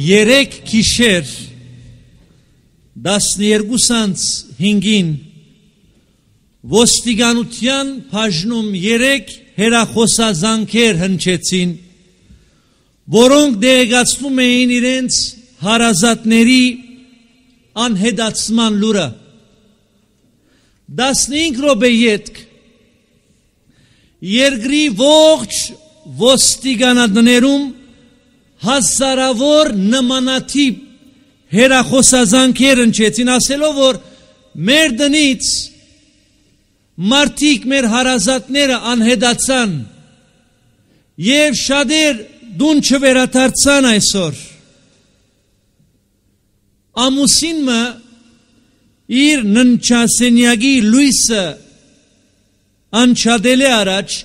3 գիշեր 12:05-ին ոստիկանության բաժնում 3 հեռախոսազանգեր հնչեցին, որոնք դեղեցնում էին իրենց հարազատների անհետացման լուրը։ 15 րոպե ետք երկրի ողջ ոստիկանատներում հազարավոր նմանատիպ հեռախոսազանգեր հնչեցին, ասելով, որ մեր տնից մարդիկ, մեր հարազատները անհետացան և շատեր դուն չվերադարձան այսօր։ Ամուսինը իր ննչասենյակի լույսը անչադել է առաջ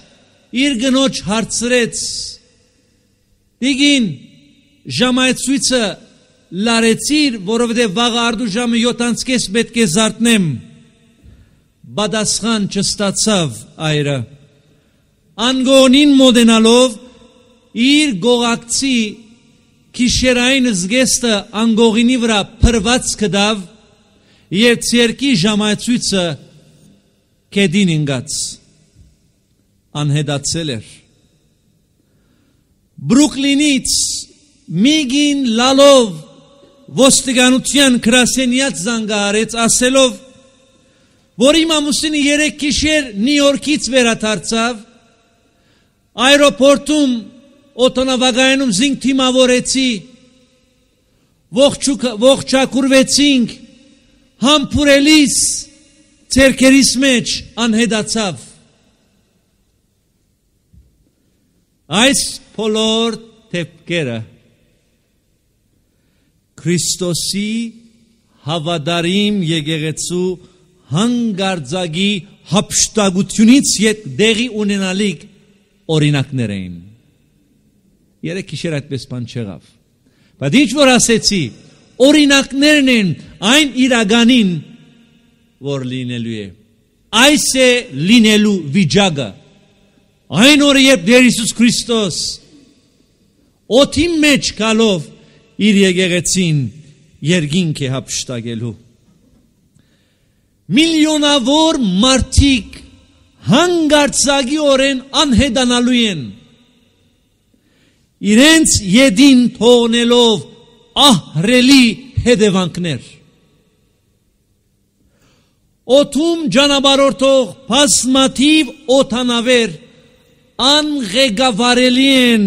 իր գնոջ հարցրեց. Դիգին ժամայցույցը լարեցիր, որովհետև վաղը արդու ժամը 7:30 պետք է զարթնեմ։ Պատասխան չստացավ այրը։ Անգոնին մոտենալով իր գողակցի գիշերային զգեստը անգողինի վրա փրված կդավ և ցերկի ժամայցույցը կեդին ինգաց։ Անհետացել էր։ Բրուկլինից միգին լալով ոստիկանության գրասենյակ զանգահարեց, ասելով, որ իմ ամուսինը 3 գիշեր Նյու Յորքից վերադարձավ, այրոպորտում օդանավակայանում զինք թիմավորեցի, ողջակուրվեցինք, համբուրելիս ցերկերիս մեջ անհետացավ։ Այս բոլոր դեպքերը Քրիստոսի հավատարիմ եկեղեցու հանգարձակի հափշտակությունից դեղի ունենալիք օրինակներ էին։ 3 գիշեր այդպես բան չեղավ։ Բայց ինչ որ ասեցի, օրինակներն են այն իրականին, որ լինելու է։ Այս է լինելու վիճակը։ Այն օրը, երբ Տեր Հիսուս Քրիստոս օդի մեջ գալով իր եկեղեցին երկինք է հափշտակելու։ Միլիոնավոր մարդիկ հանգարձակիորեն անհետանալու են, իրենց ետին թողնելով ահռելի հետևանքներ։ Օդում ճանապարհորդող բազմաթիվ օդանավեր անղեկավարելի են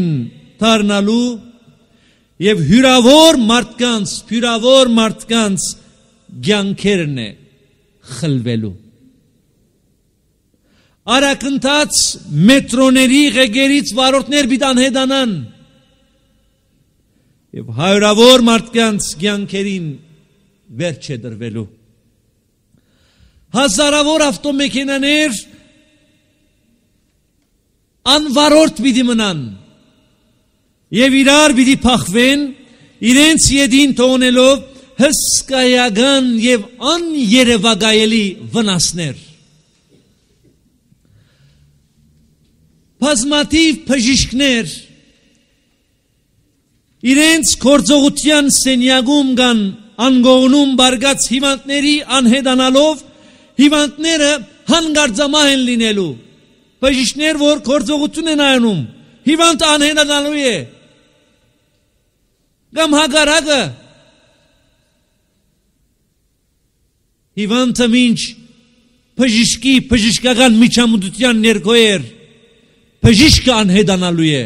դառնալու և հյուրավոր մարդկանց կյանքերն է խլվելու։ Արագընթաց մետրոների ղեկերից վարորդներ պիտի անհետանան և հարյուրավոր մարդկանց կյանքերին վերջ է դրվելու։ Հազարավոր ավտոմեքենաներ անվարորդ պիտի մնան և իրար պիտի փախվեն, իրենց ետին թողնելով հսկայական և աներևակայելի վնասներ։ Բազմաթիվ բժիշկներ իրենց գործողության սենյակում կան անգողնում բարգած հիվանդների անհետանալով, հիվանդները հանգարձամահ են լինելու։ Բժիշկներ, որ գործողություն են անում, հիվանդը անհետանալու է։ Կամ հակառակը, հիվանդը մինչ բժշկական միջամտության ներքո էր, բժիշկը անհետանալու է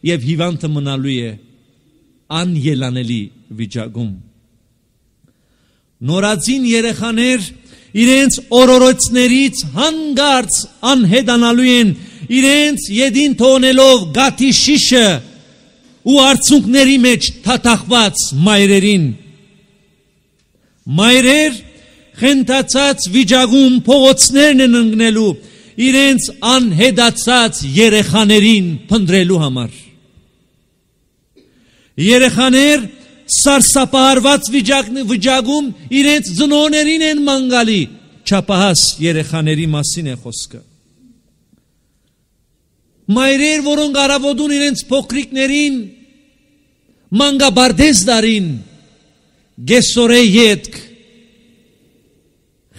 և հիվանդը մնալու է անելանելի վիճակում։ Նորածին երեխաներ իրենց օրորոցներից հանգարց անհետանալու են, իրենց ետին թողնելով գաթի շիշը ու արցունքների մեջ թաթախված մայրերին։ Մայրեր խենթացած վիճակում փողոցներն են ընկնելու իրենց անհետացած երեխաներին փնտրելու համար։ Երեխաներ սարսափահարված վիճակում իրենց ծնողներին են ման գալի, չափահաս երեխաների մասին է խոսքը։ Մայրեր, որոնք առավոտուն իրենց փոքրիկներին մանգաբարդես դարին գեսորե ետք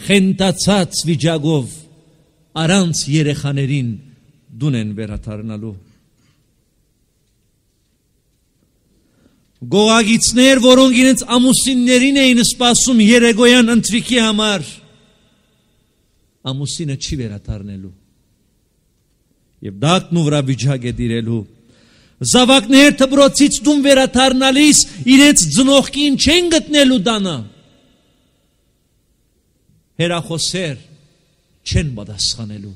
խենտացած վիճակով առանց երեխաներին դուն են վերադառնալու գողագիցներ որոնք իրենց ամուսիններին էին սպասում երեգոյան ընթրիքի համար ամուսինը չի վերադառնելու եւ դակն ու վրա վիճակ է դիրելու զավակներ դպրոցից դուն վերադառնալիս իրենց ծնողքին չեն գտնելու տանը հերախոսեր չեն պատասխանելու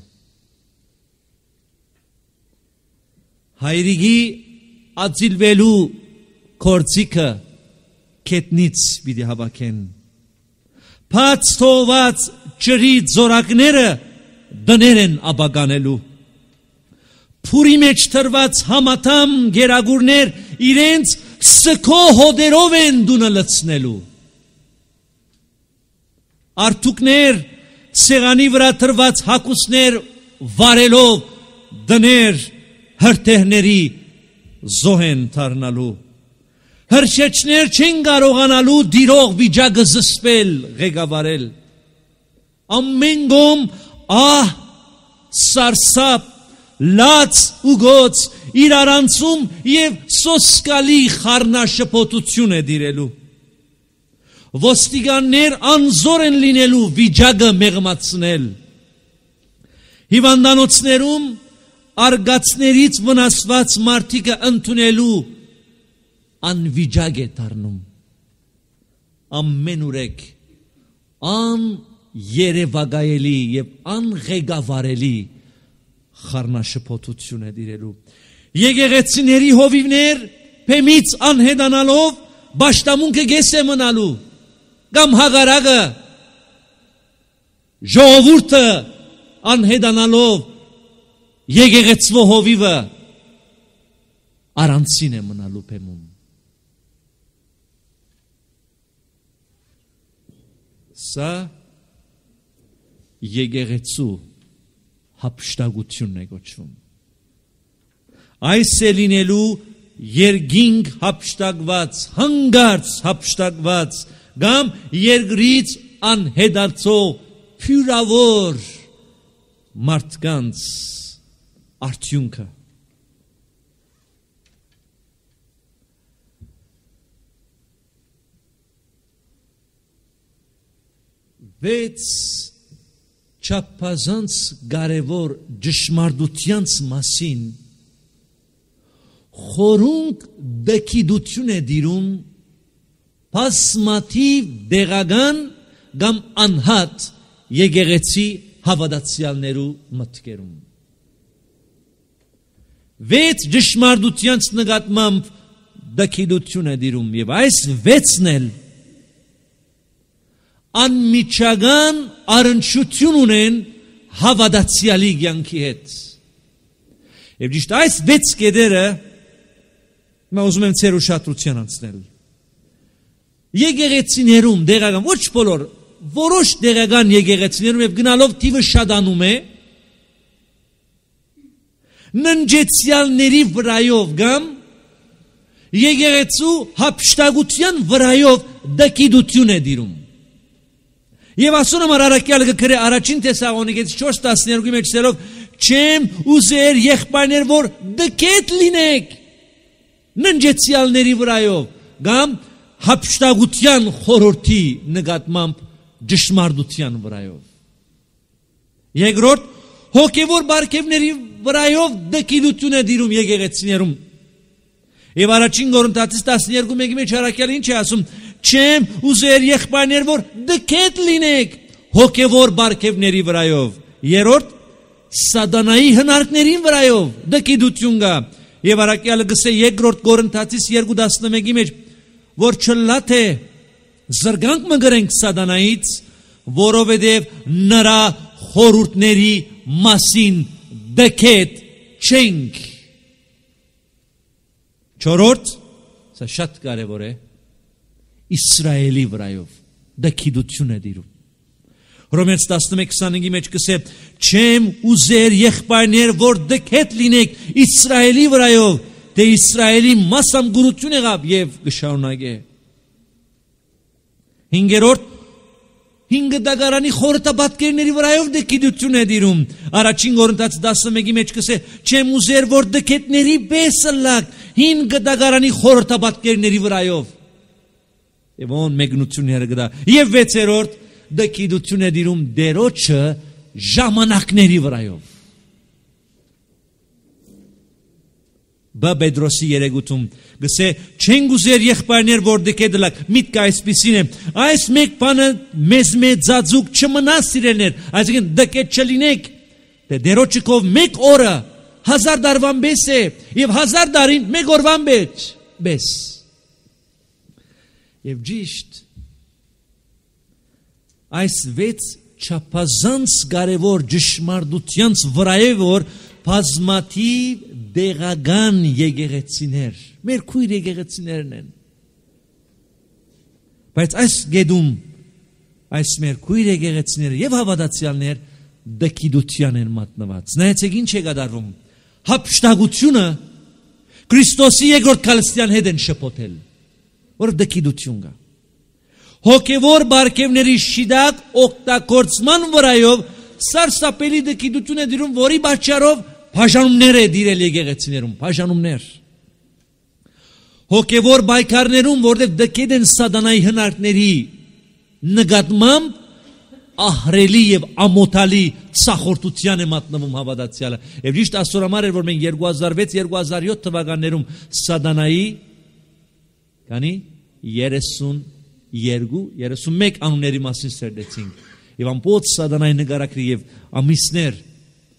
հայրիկի ածիլվելու կորցիկը կետնից պիտի հավաքեն բաց թողված ջրի ձորակները դներ են աբականելու փուրի մեջ թրված համատամ գերագուրներ իրենց սքո հոդերով են դունը լցնելու Արտուկներ սեղանի վրա թրված հակուսներ վարելով դներ հրտեհների զոհ են դառնալու հրշեջներ չեն կարողանալու դիրող վիճակը զսպել ղեկավարել ամեն կողմ ահ սարսափ լաց ու գոց իրարանցում եւ սոսկալի խառնաշփոթություն է դիրելու ոստիկաններ անզոր են լինելու վիճակը մեղմացնել հիվանդանոցներում արգացներից վնասված մարդիկը ընդունելու անվիճակ է դառնում ամեն ուրեք երևակայելի եւ անղեկավարելի խառնաշփոթություն է դիրելու եկեղեցիների հովիվներ փեմից անհետանալով բաշտամունքը գես է մնալու կամ հագարակը ժողովուրդը անհետանալով եկեղեցվո հովիվը առանցին է մնալու փեմում սա եկեղեցու հափշտակությունն է կոչվում այս է լինելու երկինք հափշտակված հանգարց հափշտակված կամ երկրից անհետացող փյուրավոր մարդկանց արդյունքը վեց չափազանց կարևոր ճշմարտությանց մասին խորունկ դեկիդություն է դիրում բազմաթիվ դեղական կամ անհատ եկեղեցի հավատացյալներու մտքերում վեց ճշմարտությանց նկատմամբ դեկիդություն է դիրում եւ այս վեցն էլ անմիջական առնչություն ունեն հավատացյալի կյանքի հետ եւ ճիշտ այս վեց կետերը մա ուզում եմ ցեր ուշադրության անցնել եկեղեցիներում դեղական ոչ բոլոր որոշ դեղական եկեղեցիներում եւ գնալով թիվը շատանում է ննջեցյալների վրայով կամ եկեղեցու հափշտակության վրայով դեկիդություն է դիրում Եվ ասում եմ արարակյալը գրե առաջին Թեսաղոնիկեցի 4:12-ի մեջ ասելով չեմ ուզեր եղբայրներ որ դկետ լինեք ննջեցյալների վրայով կամ հափշտակության խորհրդի նկատմամբ ճշմարտության վրայով Երկրորդ հոգևոր բարգևների վրայով դեկիդություն է դիրում եկեղեցիներում Եվ առաջին Կորինթացիս 12:1-ի մեջ արարակյալը ինչ է ասում Չեմ ուզեր եղբայրներ որ դկետ լինեք հոգևոր բարգևների վրայով Երրորդ սատանայի հնարքներին վրայով դկիդություն կա Եվ արարակյալը գսե երկրորդ Կորինթացիս 2:11-ի մեջ որ չլա թե զրկանք մը գրենք սատանայից որովհետև նրա խորհուրդների մասին դկետ չենք Չորրորդ սա շատ կարևոր է Իսրայելի վրայով դեկիդություն է դիրում Հռոմեացիս 11:25-ի մեջ կսե չեմ ուզեր եղբայրներ որ դկետ լինեք Իսրայելի վրայով թե Իսրայելի մասամգորություն եղավ եւ կշարունակե։ Հինգերորդ հինգ դագարանի խորհրդաբատկերների վրայով դեկիդություն է դիրում։ Առաջին Կորինթացի 11-ի մեջ կսե չեմ ուզեր որ դկետների բեսը լակ հինգ դագարանի խորհրդաբատկերների վրայով։ Եվ ոն մեկնությունները գտա։ Եվ վեցերորդ դեկիդություն է դիրում դերոջը ժամանակների վրայով։ Բեդրոսի երեգութում գսե չեն գուզեր եղբայրներ որ դեկեդլակ միտքը այսպիսին է այս մեկ բանը մեզ մեծածուկ չմնա սիրելներ այսինքն դեկետ չլինեք դե դերոջիկով մեկ օրը 1000 դարվան բես է եւ 1000 դարին մեկ օրվան բես եւ ճիշտ այս վեց չափազանց կարևոր ճշմարտությանց վրայով որ բազմաթիվ դեղական եկեղեցիներ մեր քույր եկեղեցիներն են բայց այս գեդում այս մեր քույր եկեղեցիները եւ հավատացյալներ դեկիդության են մատնված նայեցեք ինչ է կատարվում հափշտակությունը Քրիստոսի երկրորդ քալստյան հետ են շփոթել որ դեկիդություն կա հոգեվոր բարգևների շիդակ օգտագործման վրայով սարսափելի դեկիդություն է դիրում որի պատճառով բաժանումներ է դիրել եկեղեցիներում բաժանումներ հոգևոր բայկարներում որտեղ դկետ են սատանայի հնարքների նկատմամբ ահրելի եւ ամոթալի ցախորտության է մատնվում հավատացյալը եւ ճիշտ աստորամար էր որ մենք 2006-2007 թվականներում սատանայի քանի 32-31 անունների մասին սերդեցինք եւ ամբողջ սատանայի նկարագրի եւ ամիսներ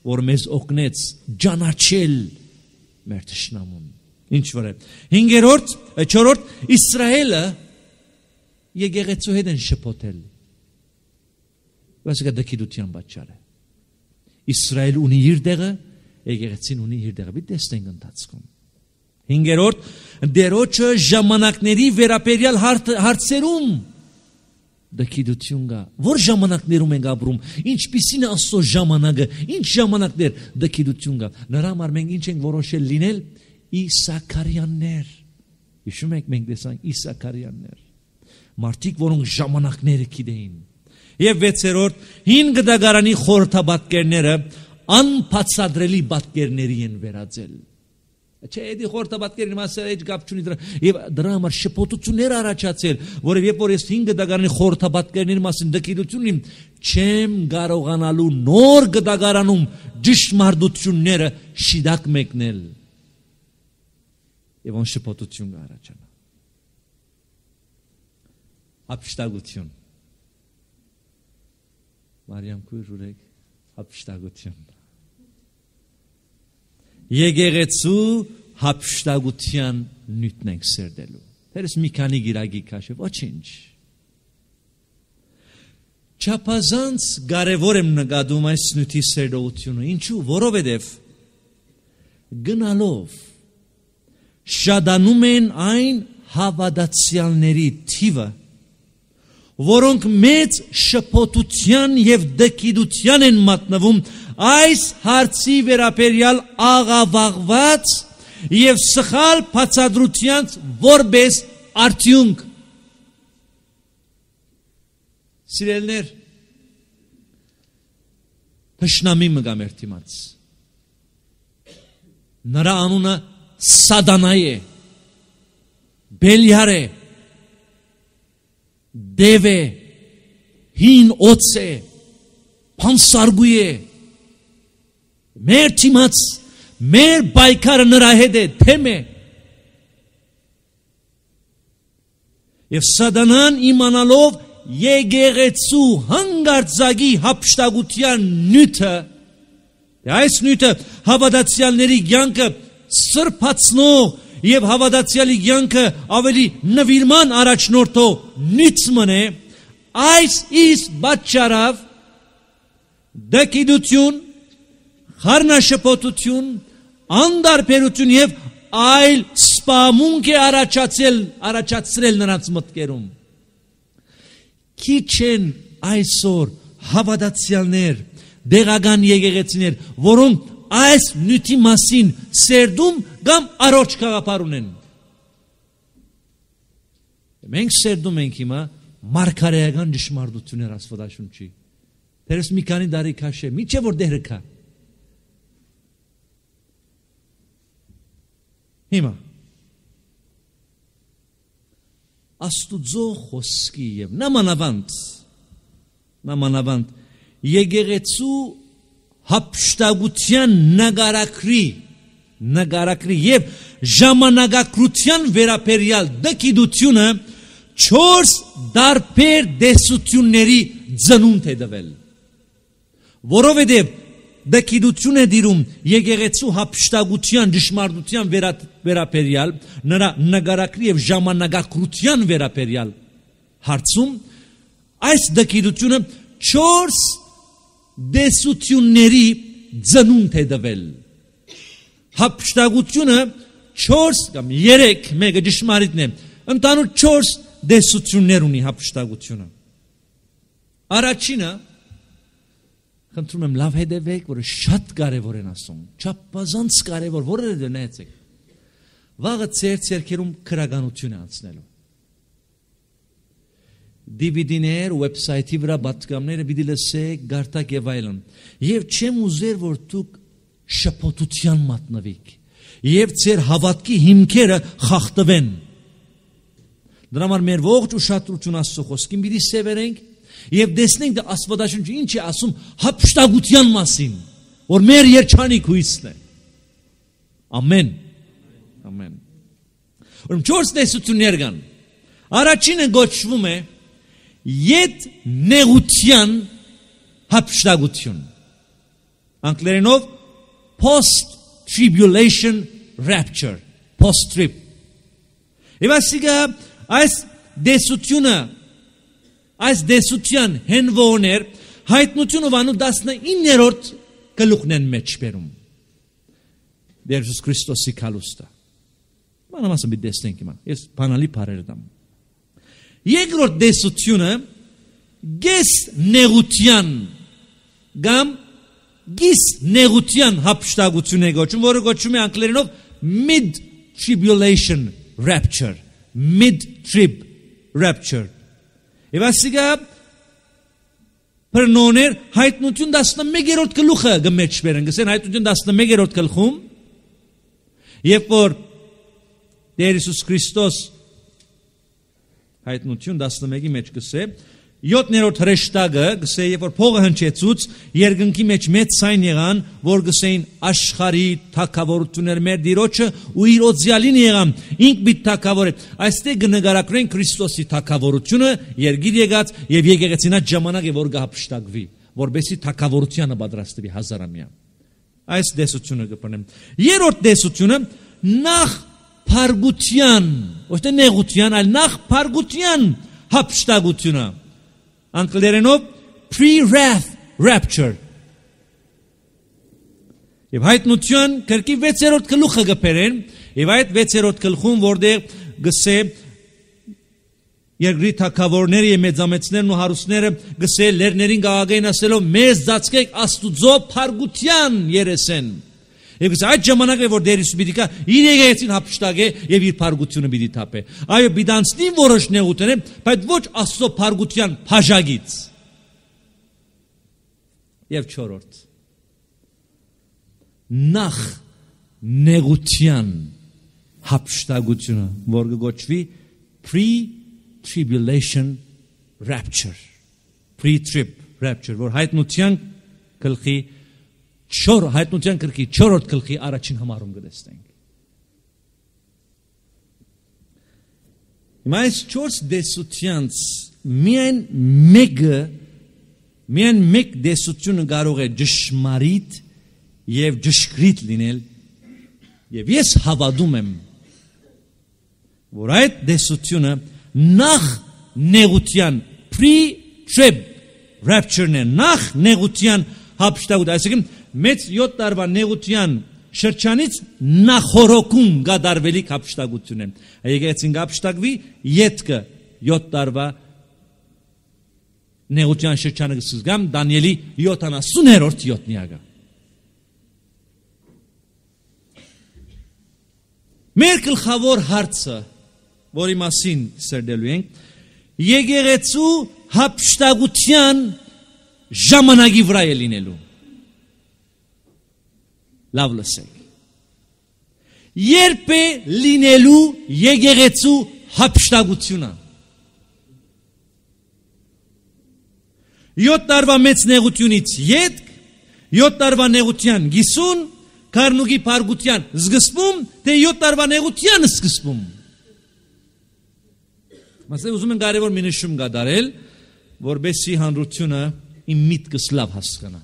որ մեզ օգնեց ճանաչել մեր թշնամուն ինչ որ է 4-րդ Իսրայելը եկեղեցու հետ են շփոթել Բասկա դեկիդության պատճառ է Իսրայել ունի իր տեղը եկեղեցին ունի իր տեղը մի տեսնենք ընթացքում 5-րդ դերոջը ժամանակների վերաբերյալ հարցերում դեկիդություն կա որ ժամանակներում ենք ապրում ինչպիսին է Աստծո ժամանակը ինչ ժամանակներ դեկիդություն կա նրա համար մենք ինչ ենք որոշել լինել Իսաքարյաններ հիշում եք մենք տեսանք Իսաքարյաններ մարդիկ որոնք ժամանակները գիտեին եւ 6-րդ 5 դագարանի խորհրդաբատկերները անբացատրելի պատկերների են վերածել Չէ, էդի խորհրդաբատկերին մասը էջ գապ չունի դրա եւ դրա համար շփոթություններ առաջացել, որով երբ որ ես 5 դագարանի խորհրդաբատկերների մասին դեկիդություն ունիմ, չեմ կարողանալու նոր դագարանում ճշմարտությունները շիդակ մեկնել։ Եվ ոնց շփոթություն կառաջանա։ Հափշտակություն։ Մարիամ քույր ուրեք հափշտակություն։ Եկեղեցու հափշտակության նյութն ենք սերդելու։ Դերս մի քանի գիրագի քաշը, ոչինչ։ Չափազանց կարևոր եմ նկատում այս նյութի սերդողությունը։ Ինչու՞, որովհետև գնալով շատանում են այն հավատացյալների թիվը, որոնք մեծ շփոթության եւ դեկիդության են մատնվում այս հարցի վերաբերյալ աղավաղված եւ սխալ բացատրության որպես արդյունք Սիրելներ Թշնամի մգամեր թիմաց նրա անունը Սատանա է Բելիար է Դև է հին օծ է փանսարգույ է Մեր թիմաց մեր բայկարը նրա հետ է թեմ է Եվ Սատանան իմանալով եկեղեցու հանգարձակի հափշտակության նյութը այս նյութը հավատացյալների կյանքը սրբացնող եւ հավատացյալի կյանքը ավելի նվիրման առաջնորդող նյութ մնե այս իսկ պատճառով դեկիդություն խառնաշփոթություն անդարբերություն եւ այլ սպամունք է առաջացրել նրանց մտքերում Քիչ են այսօր հավատացյալներ դեղական եկեղեցիներ որոնք այս նյութի մասին սերդում կամ առողջ գաղափար ունեն։ Մենք սերդում ենք հիմա մարգարեական ճշմարտություններ Աստվածաշունչի։ Դերս մի քանի տարի քաշե, միչե որ դերը կա։ Հիմա Աստուծո խոսքի եւ նամանավանդ եկեղեցու հապշտագության նգարակրի եւ ժամանակակրության վերաբերյալ դկիդությունը 4 դարբեր դեսությունների ծնունդ է տվել, որովհետև դկիդություն է դիրում եկեղեցու հապշտագության ճշմարտության վերաբերյալ նրա նգարակրի եւ ժամանակակրության վերաբերյալ հարցում այս դկիդությունը 4 դեսությունների ծնունդ է տվել։ Հապշտագությունը 4 կամ 3 մեկը ճշմարիտն է, ընդհանուր 4 դեսություններ ունի հապշտագությունը։ Առաջինը խնդրում եմ լավ հետևեք, որը շատ կարևոր են ասում, չափազանց կարևոր, որը դնեցեք։ Վաղը ձեր ցերքերում քրագանություն է անցնելու։ DVD-ներ, website-ի վրա պատգամները պիտի լսեք, գարտակ եւ այլն։ Եվ չեմ ուզեր, որ դուք շփոթության մատնվեք եւ ձեր հավատքի հիմքերը խախտվեն։ Դրա համար մեր ողջ ուշադրություն Աստծո խոսքին պիտի սևեռենք եւ տեսնենք դա Աստվածաշունչը ինչ է ասում հապշտագության մասին, որ մեր երջանիկ հույսն է։ Ամեն։ Ամեն։ Ուրեմն 4 տեսություններ կան։ Առաջինը գոչվում է Ետ նեղության հապշտագություն։ Անգլերենով post-tribulation rapture, post-trib։ Եվ ասիկա այս դեսության հենվոներ հայտնություն ովանու 19-րդ գլուխն են մեջ բերում։ Եհուս Քրիստոսի քալուստը։ Մանավանդ մի տեսնենք հիմա։ Ես բանալի բառեր դամ։ Երկրորդ դեսությունը գես նեղության կամ գիս նեղության հապշտագություն է գոչում, որը գոչում է անգլերենով mid-tribulation rapture, mid-trib rapture։ Եվ ասիկա պրնոներ հայտնություն 11-րդ գլուխը գմեջ բերեն, գսեն հայտնություն 11-րդ գլխում, երբ որ Տեր Հիսուս Քրիստոս հայտնություն 11-ի մեջ գսե 7-րդ հրեշտակը գսե երբ որ փողը հնչեցուց երկնքի մեջ մեծ ցայն եղան որ գսեին աշխարհի թագավորություններ մեր Տիրոջը ու իր օձյալին եղան ինք մի թագավոր է այստեղ կնկարագրեն Քրիստոսի թագավորությունը երգիր եկած եւ եկեղեցինա ժամանակ է որ գահապշտակվի որբեսի թագավորությանը պատրաստվի հազարամյա այս դեսությունը կպնեմ երրորդ դեսությունը նախ փարգության ոչ թե նեղության այլ նախ փարգության հապշտակությունը անգլերենով pre-wrath rapture եւ հայտնություն կրկի 6-րդ գլուխը գբերեն եւ այդ 6-րդ գլխում որտեղ գսե երկրի թագավորները եւ մեծամեծներն ու հարուստները գսե լերներին գաղագային ասելով մեզ ծածկեք Աստուծո փարգության երեսեն Եվ այդ ժամանակը որ Տեր Հիսուս պիտի գա իր եկեղեցին հապշտակե եւ իր փարգությունը պիտի թափե այո բիդանցնի որոշ նեղություններ բայց ոչ Աստծո փարգության բաժագից եւ չորրորդ նախ նեղության հապշտակությունը որ գոչվի pre-tribulation rapture pre-trib rapture որ հայտնության գլխի հայտնության գրքի 4-րդ գլխի առաջին համարում կտեսնենք։ Հիմա այս 4 դեսությանց միայն մեկ դեսությունը կարող է ճշմարիտ եւ ճշգրիտ լինել եւ ես հավատում եմ որ այդ դեսությունը նախ նեղության pre-trib rapture-ն է նախ նեղության հապշտակություն այսինքն մեծ 7 տարվա նեղության շրջանից նախորոքում գադարվելիք հապշտակություն է եկեղեցին կհապշտակվի ետքը 7 տարվա նեղության շրջանը կսկսգամ Դանիելի 70-րդ յոթնիակը Մեր գլխավոր հարցը, որի մասին սերդելու ենք, եկեղեցու հափշտակության ժամանակի վրա է լինելու։ Լավ լսեք։ Երբ է լինելու եկեղեցու հափշտակությունը։ 7 տարվա մեծ նեղությունից ետք, 7 տարվա նեղության գիսուն, Քարնուկի փարգության զգսպում, թե 7 տարվա նեղության զգսպում։ Մասը ուզում են կարևոր մի նշում կատարել, որբեսի հանրությունը իմ միտքս լավ հասկանա։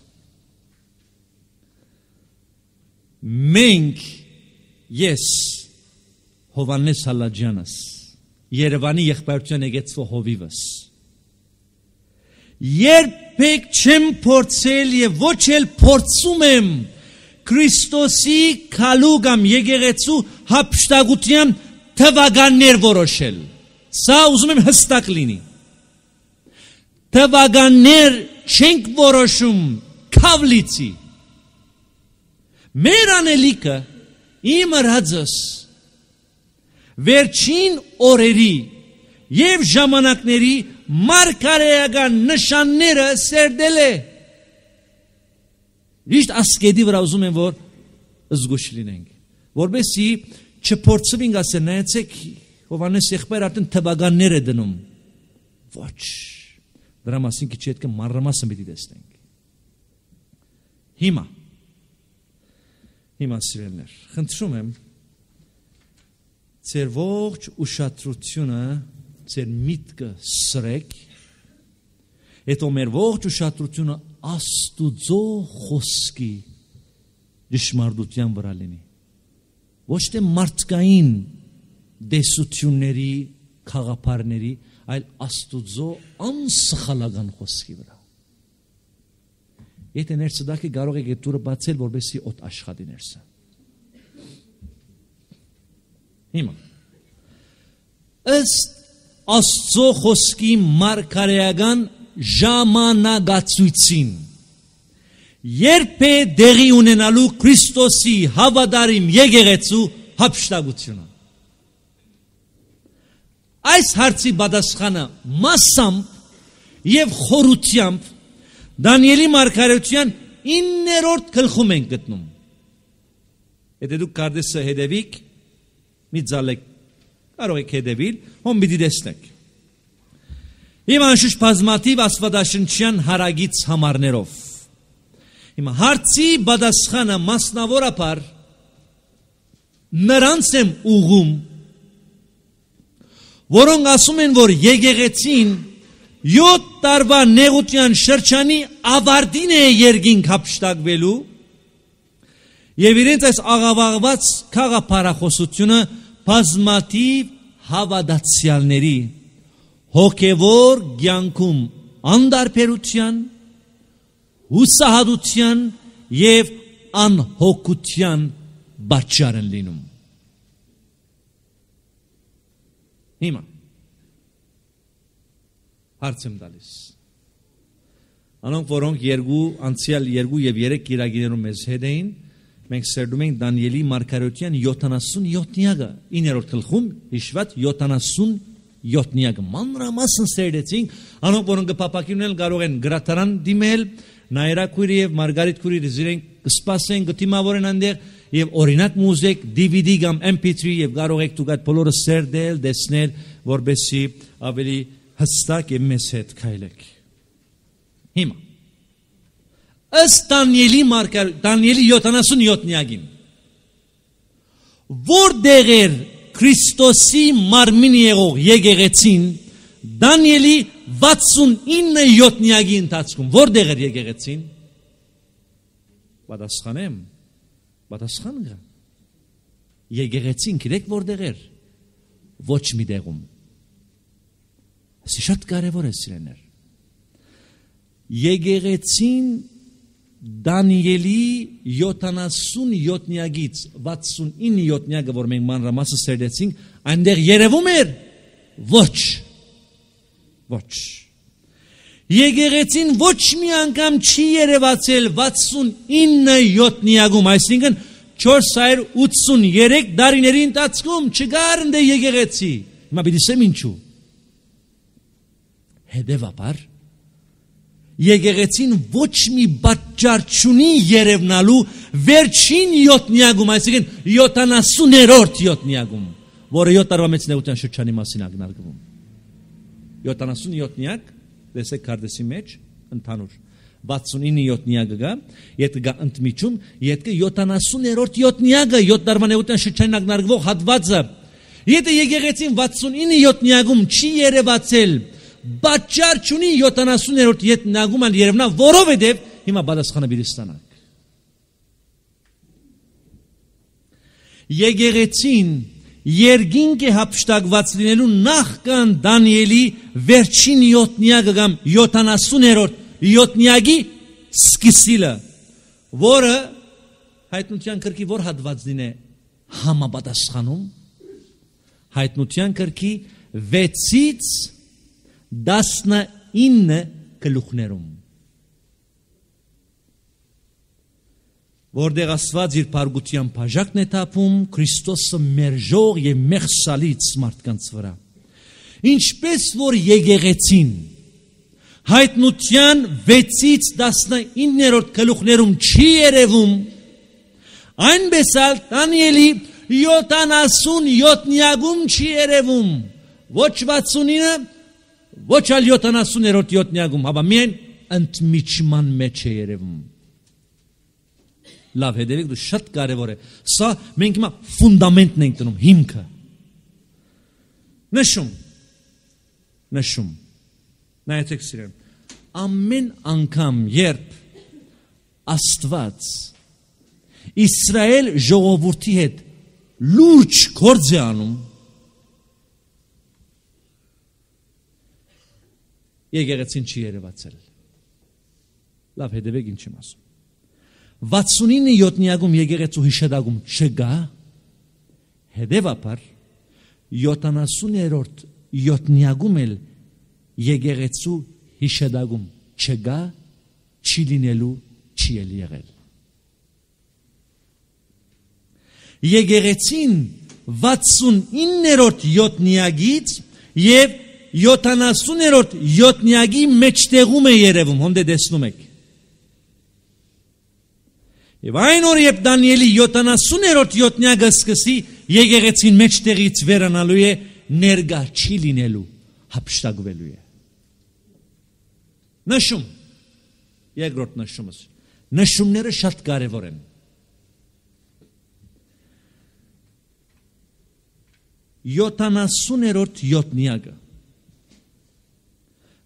Մենք ես Հովանես Հալաջյանս, Երևանի եղբայրության եկեղեցու հովիվս, երբեք չեմ փորձել եւ ոչ էլ փորձում եմ Քրիստոսի քալու կամ եկեղեցու հափշտակության թվականներ որոշել։ Սա ուզում եմ հստակ լինի։ Թվականներ չենք որոշում քավլիցի։ Մեր անելիքը իմ ռածս վերջին օրերի եւ ժամանակների մարգարեական նշանները սերդել է։ Ճիշտ ասկեդի վրա ուզում եմ որ զգուշ լինենք, որովհետեւ չփորձվենք ասել, նայեցեք Հովանես եղբայրը արդեն թվականներ է դնում։ Ոչ։ Դրա մասին քիչ հետք մանրամասն պիտի տեսնենք։ Հիմա սիրելիներ, խնդրում եմ ձեր ողջ ուշադրությունը, ձեր միտքը սրեք, հետո մեր ողջ ուշադրությունը Աստուծո խոսքի ճշմարտության վրա լինի։ Ոչ թե մարդկային դեսությունների, խաղապարների, այլ Աստուծո անսխալական խոսքի վրա։ Եթե ներսդակի կարող եք դուրը բացել, որբեսի օդ աշխատի ներսը։ Հիմա ըստ Աստծո խոսքի մարգարեական ժամանակացույցին երբ է դեղի ունենալու Քրիստոսի հավատարիմ եկեղեցու հափշտակությունը։ Այս հարցի պատասխանը մասամբ եւ խորությամբ Դանիելի մարգարեության 9-րդ գլխում են գտնում։ Եթե դուք կարդեսը հետևիք, մի ձալեք, կարող եք հետևիլ, հոմ պիտի տեսնեք։ Հիմա անշուշտ բազմաթիվ աստվածաշնչյան հարագից համարներով։ Հիմա հարցի պատասխանը մասնավորապես նրանց եմ ուղում, որոնք ասում են, որ եկեղեցին 7 տարվա նեղության շրջանի ավարտին է երկինք հափշտակվելու եւ իրենց այս աղավաղված խաղապարախոսությունը բազմաթիվ հավատացյալների հոգևոր կյանքում անդարբերության, հուսահատության եւ անհոգության պատճառ են լինում։ Հիմա հարց եմ տալիս։ Անոնք, որոնք անցյալ 2 եւ 3 կիրագիներում մեզ հետ էին, մենք սերդում ենք Դանիելի մարգարեության 77-յակը, 9-րդ գլխում հիշված 77-յակը մանրամասն սերդեցինք, անոնք, որոնք կփապակինել կարող են գրադարան դիմել, Նայրա քույրի եւ Մարգարիտ քույրի զիրենք կսպասեն, կտիմավորեն այնտեղ եւ օրինակ մուզիկ, DVD կամ MP3 եւ կարող եք դուք այդ բոլորը սերդել, տեսնել, որբեսի ավելի հստակ եւ մեծ հետ քայլեք։ Հիմա ըստ Դանիելի 77-յակին որտեղ էր Քրիստոսի մարմին եղող եկեղեցին Դանիելի 69-յակի ընթացքում որտեղ էր եկեղեցին։ Պատասխանեմ, պատասխան գա։ Եկեղեցին գիտեք որտեղ էր։ Ոչ մի տեղում։ Սա շատ կարևոր է սիրելիներ։ Եկեղեցին Դանիելի 77-յակից 69-յակը, որ մենք մանրամասն սերդեցինք, այնտեղ երևում էր ոչ։ Եկեղեցին ոչ մի անգամ չի երևացել 69-յակում, այսինքն 483 դարիների ընթացքում չկար ընդ եկեղեցի։ Հիմա պիտի ասեմ ինչու։ Հետևաբար եկեղեցին ոչ մի պատճառ չունի երևնալու վերջին 7-նյակում, այսինքն 70-րդ 7-նյակում, որը 7 տարվա մեծ նեղության շրջանի մասին ակնարկվում։ 77-նյակ, տեսեք քարտեզի մեջ ընդհանուր 69-7-նյակը գա, եթե գա ընդմիջում, եթե 70-րդ 7-նյակը 7 տարվա նեղության շրջանին ակնարկվող հատվածը, եթե եկեղեցին 69-7-նյակում չի երևացել, պատճառ չունի 70-րդ 7-նյակում երևնա, որովհետև հիմա պատասխանը պիտի ստանանք։ Եկեղեցին երկինք է հափշտակված լինելու նախքան Դանիելի վերջին 7-նյակը կամ 70-րդ 7-նյակի սկիզբը, որը հայտնության գրքի որ հատվածին է համապատասխանում, հայտնության գրքի 6-ից 19 գլուխներում, որտեղ Աստված իր փառքության բաժակն է թափում Քրիստոսը մերժող եւ մեղսալից մարդկանց վրա։ Ինչպես որ եկեղեցին հայտնության 6-ից 19-րդ գլուխներում չի երևում, այնպես էլ Դանիելի 77-նյակում չի երևում, ոչ 69, ոչ էլ 70-րդ 7-նյակում, հապա միայն ընդմիջման մեջ է երևում։ Լավ, հետևեք, դու շատ կարևոր է։ Սա մենք հիմա ֆունդամենտն ենք տնում, հիմքը։ Նշում։ Նայեցեք սիրեմ, ամեն անգամ երբ Աստված Իսրայել ժողովրդի հետ լուրջ գործ է անում, եկեղեցին չի երևացել։ Լավ, հետևեք ինչ եմ ասում։ 69-7-նյակում եկեղեցու հիշադակում չկա, հետևաբար 70-րդ 7-նյակում էլ եկեղեցու հիշադակում չկա, չի լինելու, չի էլ եղել։ Եկեղեցին 69-րդ 7-նյակից եւ 70-րդ 7-նյակի մեջտեղում է երևում, հոնդե տեսնում եք։ Եվ այն օր երբ Դանիելի 70-րդ 7-նյակը սկսի, եկեղեցին մեջտեղից վերանալու է, ներկա չի լինելու, հափշտակվելու է։ Նշում, երկրորդ նշումս, նշումները շատ կարևոր են։ 70-րդ 7-նյակը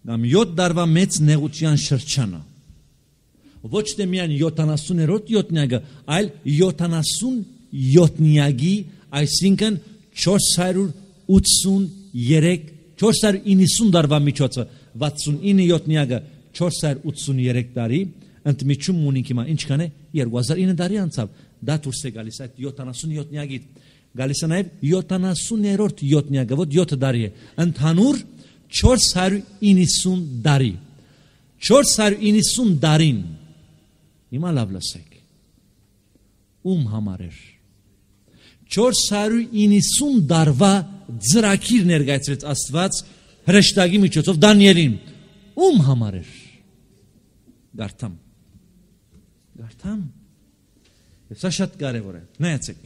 կամ 7 տարվա մեծ նեղության շրջանը, ոչ թե միայն 70-րդ 7-նյակը, այլ 77-նյակի, այսինքն 490 տարվա միջոցը, 69-7-նյակը 483 տարի, ընդմիջում ունենք հիմա ինչքան է, 2009 տարի անցավ, դա դուրս է գալիս այդ 77-նյակից, գալիս է նաև 70-րդ 7-նյակը, ոչ 7 տարի է, ընդհանուր 490 տարի, 490 տարին, հիմա լավ լսեք, ում համար էր, 490 տարվա ծրագիր ներկայացրեց Աստված հրեշտակի միջոցով Դանիելին, ում համար էր, գարթամ, և սա շատ կարևոր է, նայացեք,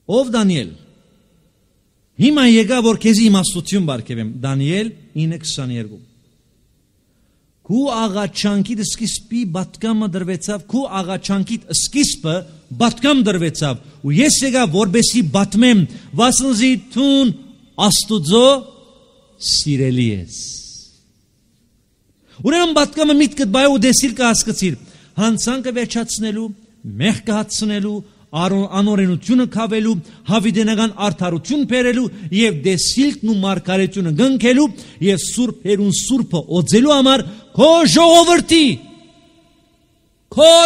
ով Դանիել, հիմա եկա, որ քեզի իմաստություն բարգևեմ, Դանիել 9:22, քու աղաչանքիդ սկիզբի պատգամը դրվեցավ, քու աղաչանքիդ սկիզբը պատգամ դրվեցավ, ու ես եկա, որբեսի պատմեմ, վասնզի թուն Աստուծո սիրելի ես։ Ուրեմն պատգամը միտքդ բայ ու դեսիլ կհասկացիր, հանցանքը վերջացնելու, մեղքը հացնելու, անօրենությունը քավելու, հավիտենական արդարություն բերելու եւ դեսիլքն ու մարգարեությունը գնքելու եւ սուրբերուն սուրբը օծելու համար քո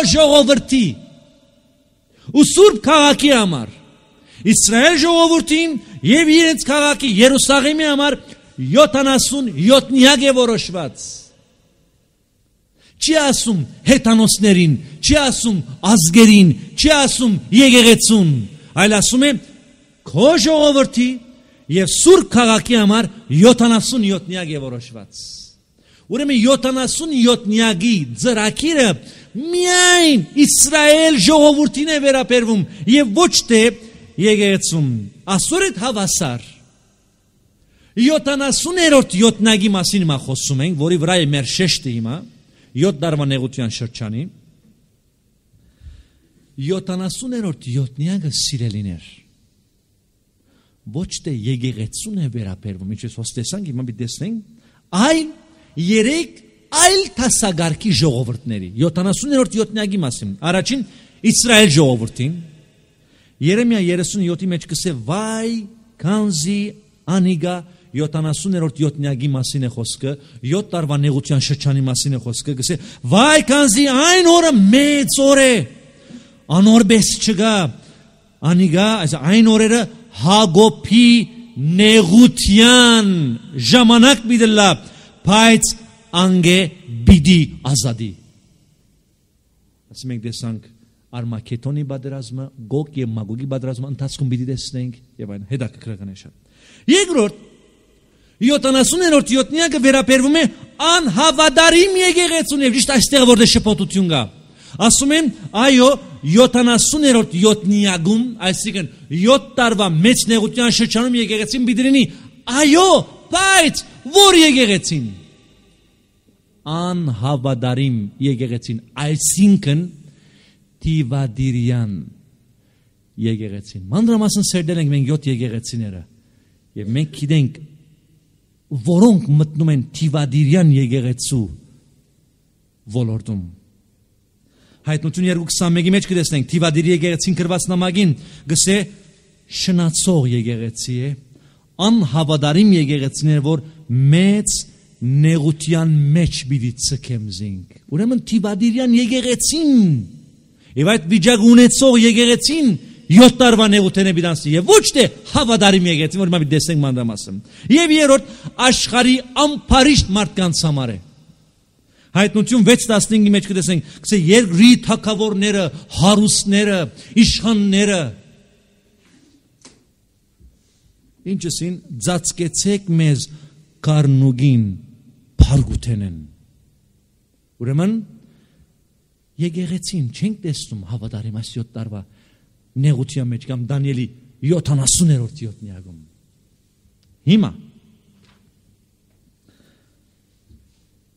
ժողովրդի ու սուրբ քաղաքի համար Իսրայել ժողովրդին եւ իրենց քաղաքի Երուսաղեմի համար 77-յակ է որոշված։ Չի ասում հեթանոսներին, չի ասում ազգերին, չի ասում եկեղեցուն, այլ ասում է քո ժողովրդի եւ սուրբ քաղաքի համար 77-յակ է որոշված։ Ուրեմն 77-յակի ծրագիրը միայն Իսրայել ժողովրդին է վերաբերվում եւ ոչ թե եկեղեցուն։ Ասորդ հավասար 70-րդ յոթնագի մասին մա խոսում ենք, որի վրա է մեր շեշտը հիմա 7 տարվա նեղության շրջանի 70-րդ յոթնյակը սիրելիներ ոչ թե եկեղեցուն է վերաբերվում, ինչպես հոստեսանք հիմա մի տեսնենք, այլ երեք այլ տասագարկի ժողովուրդների 70-րդ յոթնյակի մասին առաջին Իսրայել ժողովրդին Երեմիա 37-ի մեջ կսե վայ քանզի անիգա 70-րդ յոթնյակի մասին է խոսքը 7 տարվա նեղության շրջանի մասին է խոսքը կսե վայ քանզի այն օրը մեծ օր է անորբես չգա անիգա այն օրերը Հագոփի նեղության ժամանակ բիդլա բայց անգե բիդի ազատի ասում ենք տեսանք Արմագեդոնի պատերազմը Գոգ եւ Մագոգի պատերազմը ընթացքում պիտի տեսնենք եւ այն հետաքրքրական է շատ երկրորդ 70-րդ յոթնյակը վերաբերվում է անհավատարիմ եկեղեցուն եւ ճիշտ այստեղ որտեղ շփոթություն կա ասում են այո 70-րդ յոթնյակում այսինքն 7 տարվա մեծ նեղության շրջանում եկեղեցին պիտի լինի այո բայց որ եկեղեցին անհավատարիմ եկեղեցին այսինքն Տիվադիրյան եկեղեցին մանրամասն սերդել ենք մենք 7 եկեղեցիները եւ մենք գիտենք որոնք մտնում են Տիվադիրյան եկեղեցու ոլորտում Հայտնություն 2:21-ի մեջ կտեսնենք Տիվադիրի եկեղեցին գրված նամակին գսե շնացող եկեղեցի է անհավատարիմ եկեղեցին է որ մեծ նեղության մեջ պիտի ցկեմ զինք ուրեմն Տիվադիրյան եկեղեցին Եվ այդ վիճակ ունեցող եկեղեցին 7 տարվա նեղութեն է բիդանցի եւ ոչ թե հավատարիմ եկեղեցին, որ մենք տեսնենք մանրամասն։ Եվ երրորդ աշխարհի ամփարիշտ մարդկանց համար է։ Հայտնություն 6:15-ի մեջ կտեսնենք, գսե երկրի թագավորները, հարուստները, իշխանները ինչսին ծածկեցեք մեզ կարնուգին փարգութենեն։ Ուրեմն Եկեղեցին չենք տեսնում հավատարիմ այս 7 տարվա նեղության մեջ կամ Դանիելի 70-րդ յոթնյակում։ Հիմա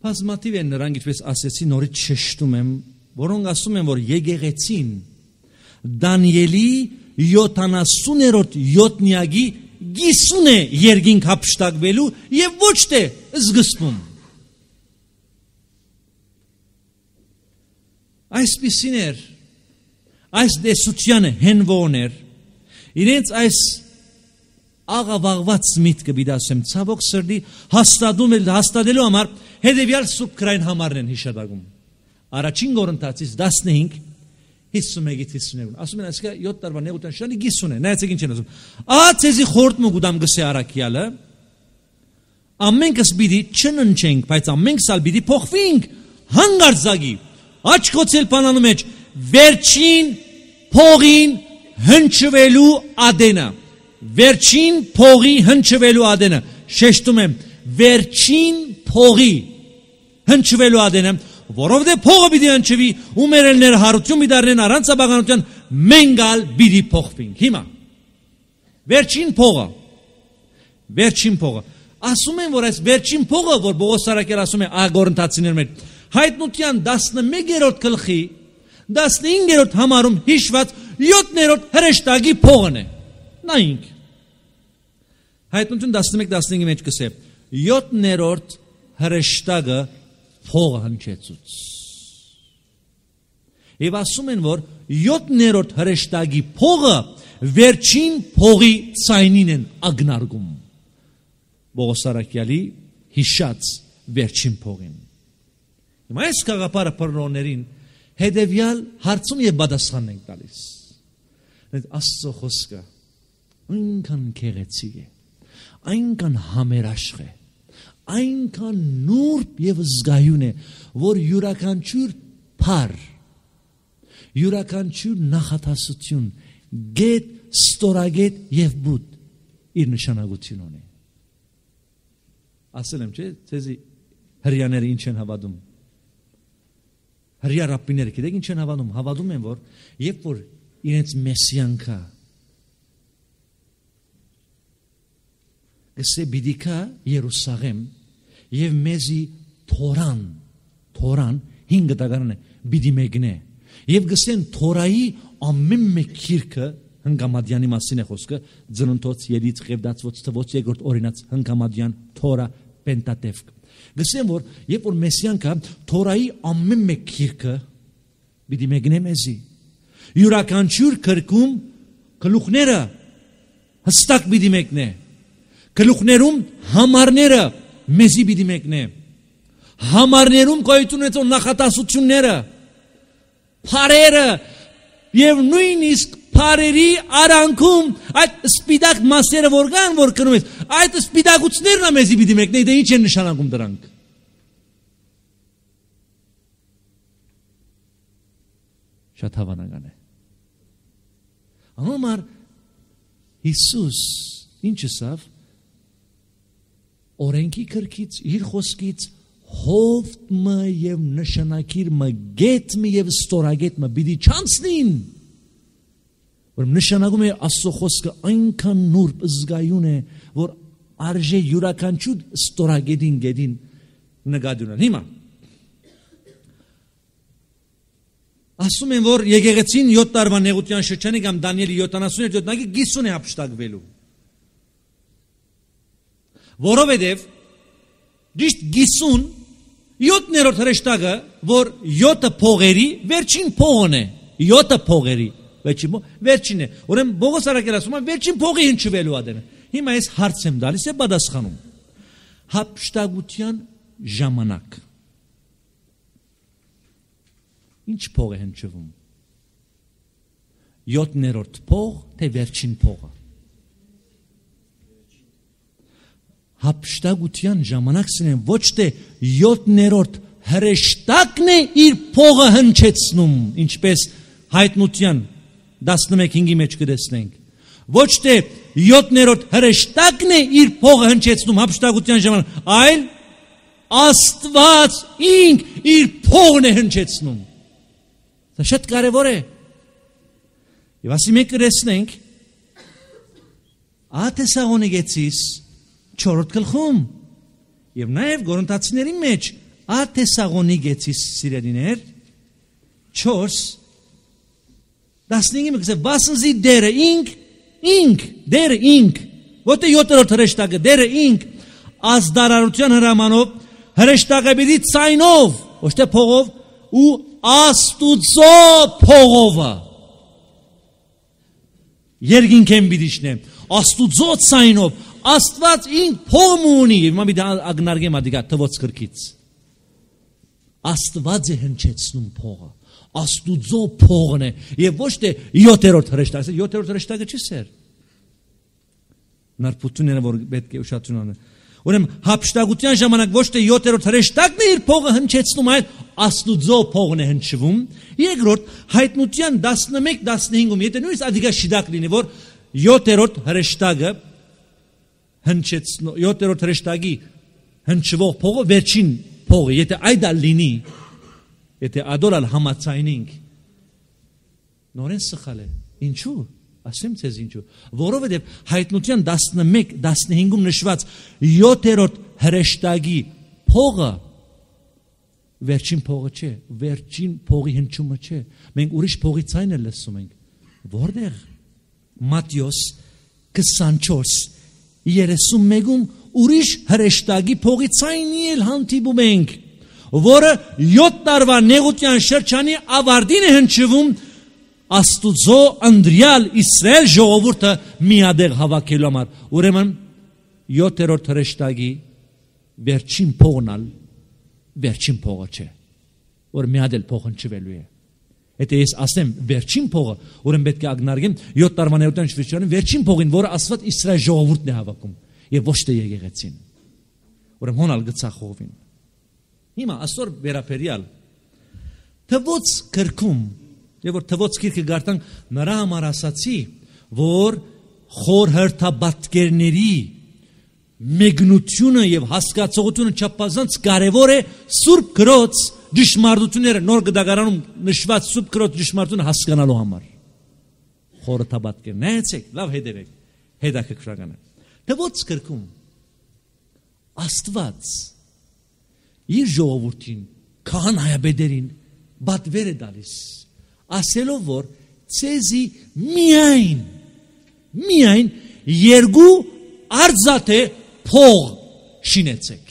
բազմաթիվ են նրանք ինչպես ասեցի նորից շեշտում եմ, որոնք ասում են, որ եկեղեցին Դանիելի 70-րդ յոթնյակի գիսուն է երկինք հափշտակվելու եւ ոչ թե զգստում։ Այսպիսին էր, այս դեսությանը հենվոներ, իրենց այս աղավաղված միտքը բիդասեմ ցավոք սրդի հաստատելու համար հետևյալ սուրբ քրային համարն են հիշատակում։ Առաջին Կորինթացիս 15:51-52 ասում են այսքա 7 տարվա նեղության շրջանի գիսուն է, նայեցեք ինչ են ասում։ Ացեզի խորտ մուգուդամ գսե արաքյալը ամենքս պիտի չննչենք, բայց ամենքս ալ պիտի փոխվենք հանգարձակի Աչքոցել բանանում մեջ վերջին փողին հնչվելու ադենը վերջին փողի հնչվելու ադենը շեշտում եմ վերջին փողի հնչվելու ադենը որովհետև փողը պիտի հնչվի ու մերելները հարություն դառնեն առանց աբաղանության մենգալ պիտի փոխվենք հիմա վերջին փողը ասում են որ այս վերջին փողը որ Պողոս Սարակել ասում է Կորինթացիներ մեջ Հայտնության 11-րդ գլխի 15-րդ համարում հիշված 7-րդ հրեշտակի փողն է։ Նայենք։ Հայտնություն 11-15-ի մեջ կսե 7-րդ հրեշտակը փողը հնչեցուց։ Եվ ասում են որ 7-րդ հրեշտակի փողը վերջին փողի ցայնին են ագնարգում։ Պողոս Սարակյալի հիշած վերջին փողին։ Հիմա այս կաղապարը պրոններին հետևյալ հարցում և բադասխան ենք տալիս։ Աստծո խոսքը ինքան քեղեցիկ է։ այնքան համերաշխ է, այնքան նուրբ եւ զգայուն է, որ յուրաքանչյուր փառ, յուրաքանչյուր նախատասություն, գետ, ստորագետ եւ բուտ իր նշանակություն ունի։ Ասել եմ, չէ՞, ցեզի հրյաները ինչ են հավատում։ Հրյա ռաբբիները գիտեք ինչ են հավատում։ Հավատում են, որ երբ որ իրենց մեսիան կա, գսե պիտի գա Երուսաղեմ եւ մեզի Թորան 5 տակարան է պիտի մեկնե եւ գսեն Թորայի ամեն մեկ քիրքը հնգամադյանի մասին է խոսքը ծննդոց ելից ղևդացված թվոց երկրորդ օրինաց հնգամադյան Թորա Պենտատևկ գսեն որ երբ որ մեսիան կա Թորայի ամեն մեկ քիրքը պիտի մեկնե մեզի յուրաքանչյուր քրկում գլուխները հստակ պիտի մեկնե գլուխներում համարները մեզի պիտի մեկնե համարներում գոյություն ունեցող նախատասությունները փարերը եւ նույնիսկ փարերի արանքում այդ սպիտակ մասերը որ կան որ կնում ես այդ սպիտակություններն մեզի պիտի մեկնե դե ինչ են նշանակում դրանք շատ հավանական է անոմար Հիսուս ինչ ասավ օրենքի կրկից իր խոսքից հովտը եւ նշանակիրը գետը եւ ստորագետը պիտի չանցնին որ նշանակում է Աստծո խոսքը այնքան նուրբ զգայուն է որ արժե յուրաքանչյուր ստորագետին գետին նկատի ունենալ հիմա ասում են որ եկեղեցին 7 տարվա նեղության շրջանի կամ Դանիելի 77-ը գիսուն է հափշտակվելու որովհետև դիշտ գիսուն 7-րդ հրեշտակը որ 7 փողերի վերջին փողն է 7 փողերի վերջին է ուրեմն Բողոս Արաքելը ասում է վերջին փողի հնչվելու ադենը հիմա ես հարց եմ տալիս է պատասխանում հափշտակության ժամանակ ինչ փող է հնչվում 7-րդ փող թե վերջին փողը հափշտակության ժամանակն է ոչ թե 7-րդ հրեշտակն է իր փողը հնչեցնում ինչպես հայտնության 11-ի մեջ կտեսնենք ոչ թե 7-րդ հրեշտակն է իր փողը հնչեցնում հափշտակության ժամանակ այլ Աստված ինք իր փողն է հնչեցնում դա շատ կարևոր է եւ ասի մենք կտեսնենք Աթեսաղոնիկեցիս 4-րդ գլխում եւ նաեւ Գորընթացիների մեջ Աթեսաղոնիկեցիս սիրելիներ 4 15-ը գսե վասնզի դերը դերը ոթե 7-րդ հրեշտակը դերը ազդարարության հրամանով հրեշտակը պիտի ցայնով ոչ թե փողով ու Աստուծո փողովը երկինքեն պիտի շնեմ Աստուծո ցայնով Աստված ինք փող ունի եւ մա պիտի ագնարգեմ ադիգա թվոց քրքից Աստված է հնչեցնում փողը Աստուծո փողն է եւ ոչ թե 7-րդ հրեշտակը 7-րդ հրեշտակը չի սեր նարփությունները որ պետք է ուշադրություն անեն ուրեմն հափշտակության ժամանակ ոչ թե 7-րդ հրեշտակն է իր փողը հնչեցնում այլ Աստուծո փողն է հնչվում երկրորդ հայտնության 11-15-ում եթե նույնիսկ ադիգա շիդակ լինի որ 7-րդ հրեշտակը հնչեցնող 7-րդ հրեշտակի հնչվող փողը վերջին փողը եթե այդ լինի եթե ադորալ համացայնինք նորեն սխալ է ինչու ասեմ ցեզ ինչու որովհետև հայտնության 11-15-ում նշված 7-րդ հրեշտակի փողը վերջին փողը չէ վերջին փողի հնչումը չէ մենք ուրիշ փողի ցայնը լսում ենք որտեղ Մատթեոս 24:31-ում ուրիշ հրեշտակի փողի ցայնի էլ հանդիպում ենք որը 7 տարվա նեղության շրջանի ավարտին է հնչվում Աստուծո անդրյալ Իսրայել ժողովուրդը միադեղ հավաքելու համար ուրեմն 7-րդ հրեշտակի վերջին փողնալ վերջին փողը չէ որ միադել փող հնչվելու է եթե ես ասեմ վերջին փողը ուրեմն պետք է ագնարգեմ 7 տարվա նեղության շրջանի վերջին փողին որը Աստված Իսրայել ժողովուրդն է հավաքում եւ ոչ թե եկեղեցին։ Ուրեմն հոնալ գծախողվին։ Հիմա այսօր վերապերյալ թվոց կրկում, եւ որ թվոց գիրքը գարտանք, նրա համար ասացի, որ խոր հերթաբատկերների մեգնությունը եւ հասկացողությունը չափազանց կարեւոր է Սուրբ Գրոց ճշմարտությունները նոր գդագարանում նշված Սուրբ Գրոց ճշմարտությունը հասկանալու համար։ Խոր հերթաբատկեր, նայեցեք, լավ հետևեք, հետաքրքրական է։ Թվոց կրկում Աստված իր ժողովրդին, քահանայաբեդերին բատվեր է դալիս, ասելով որ ցեզի միայն երկու արձատե փող շինեցեք։